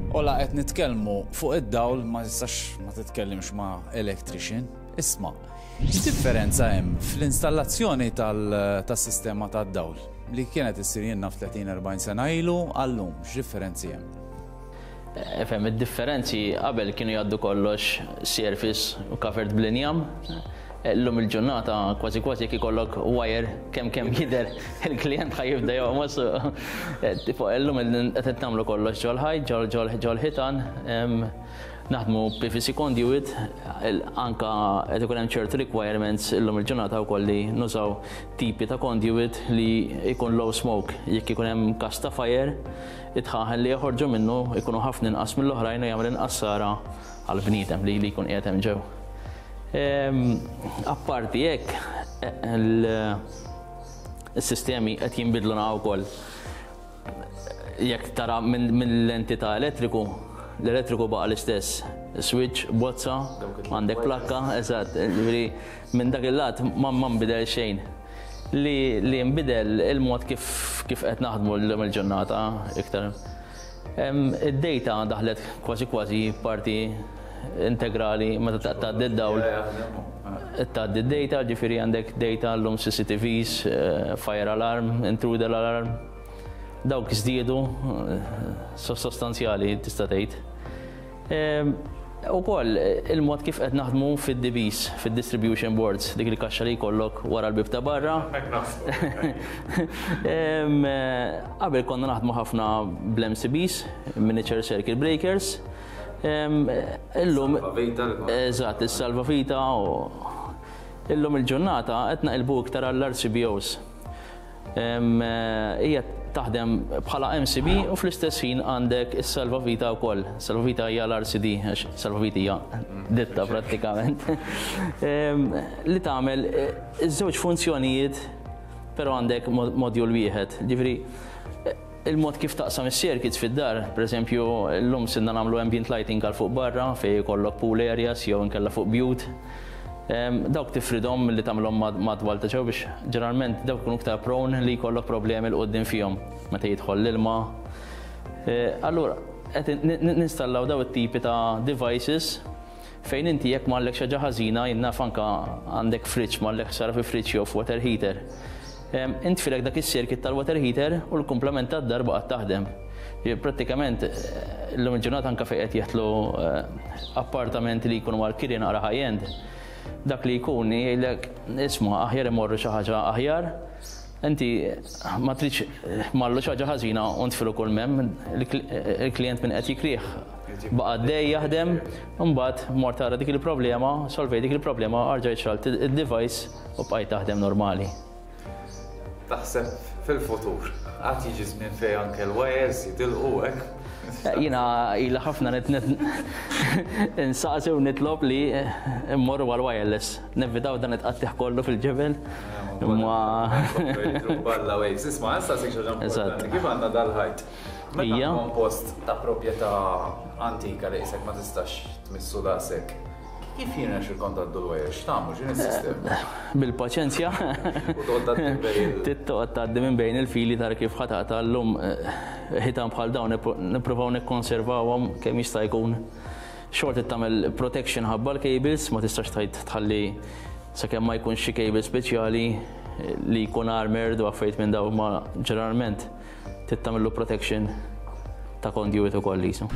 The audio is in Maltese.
U la qed nitkellmu fuq id-dawl ma tistax ma titkellimx ma' electrician. Isma', x'differenza hemm fl-installazzjoni tas-sistema tad-dawl li kienet issir jien naf 30-40 sena ilu għal-lum, x'differenzi hemm? Ifhem, id-differenzi qabel kienu jgħaddu kollox surface u covered bl-injam. Illum il-ġurnata kważi kważi jekk ikollok wire kemm kemm jidher il-klijent ħa jibda joqmos. Tipo illum qed nagħmlu kollox ġol-ħajt, ġol-ħitan, naħdmu PVC conduit, anka qed ikun hemm ċertu requirements illum il-ġurnata wkoll li nużaw tipi ta' conduit li jkun low smoke. Jekk ikun hemm każ ta' fire, id-dħaħen li joħorġu minnu jkunu ħafna inqas mill-oħrajn u jagħmel inqas ħsara għall-bniedem li jkun qiegħed hemm ġew. Apparti hekk, il-sistemi qed jinbidlu naqgħu wkoll. Jekk tara mill-lenti ta' elettriku, l-elettriku baqa' l-istess. Switch, bozza, għandek plakka, eżatt, ġifieri minn dak il-lat ma nbidel xejn. Li li nbidel il-mod kif kif qed naħdmu llum il-ġurnata iktar. Id-data daħlet kważi kważi parti integrali meta tgħaddi d-dawl. Tgħaddi d-data, ġifieri għandek data llum CCTVs, fire alarm, intruder alarm. Dawk żdiedu sostanzjali tista' tgħid. Ukoll il-mod kif qed naħdmu fid-DBs, fid-distribution boards, dik il-kaxxa li jkollok wara l-bieb ta' barra. Qabel konna naħdmu ħafna bl-MCBs, miniature circuit breakers. Illum. Eżatt, is-salvavita. Illum il-ġurnata qed naqilbu iktar għall-RCBOs. Hija taħdem bħala MCB u fl-istess ħin għandek is-Salvavita wkoll. Salvavita hija l-RCD, għax Salvavita hija ditta prattikament. Li tagħmel iż-żewġ funzjonijiet però għandek module wieħed. Ġifieri il-mod kif taqsam is-circuits fid-dar, pereżempju llum sirna nagħmlu ambient lighting għal fuq barra fejn ikollok pool areas jew inkella fuq bjut. Dawk tifridhom milli tagħmilhom madwar ta' ġew biex ġeneralment dawk ikunu iktar prone li jkollok problemi 'l quddiem fihom meta jidħol l-ilma. Allura qed ninstallaw daw it-tipi ta' devices fejn inti jekk marlek xi ħaġa ħażina, jien naf anke għandek fridge marlek ħsara fi fridge jew f'water heater. Intfilek dak is-circuit tal-water heater u l-kumplament tad-dar baqgħet taħdem. Prattikament illum il-ġurnata anke fejn qed jeħtlu appartamenti li jkunu għall-kiri naqra high end, dak li jkun jgħidlek isma' aħjar imorru xi ħaġa aħjar, inti ma tridx marlu xi ħaġa ħażina u ntfilu kull m'hemm, il-klijent min qed jikrih baqa' għaddej jaħdem, imbagħad mort tara dik il-problema, solvejt dik il-problema, erġajt xgħalt id-device u bqajt taħdem normali. Taħseb fil-futur għad jiġi żmien fejn anke l-wires jitilqu hekk? Jiena ilha ħafna insaqsi u nitlob li mmorru għal wireless. Nevitaw dan it-tqattigħ kollu fil-ġebel. Imma. Balla waves. Isma' nsaqsik xi ħaġa importanti. Kif għandna dal-ħajt? Meta tkun post ta' proprjetà antika li qisek ma tistax tmissu daqshekk. Kif jirnexxilkom tgħaddu l-wires? X'tagħmlu? X'inhi s-sistema? Bil-paċenzja. U toqgħod tgħaddi minn bejn il. Toqgħod tgħaddi minn bejn il-fili tara kif ħa taqta' llum ħitan bħal dawn nippruvaw nikkonservawhom kemm jista' jkun. Xorta trid tagħmel protection ħabba l-cables, ma tistax tgħid tħalli sakemm ma jkunx xi cable speċjali li jkun armored u affarijiet minn dawn ma ġeneralment trid tagħmillu protection ta' conduit ukoll qisu.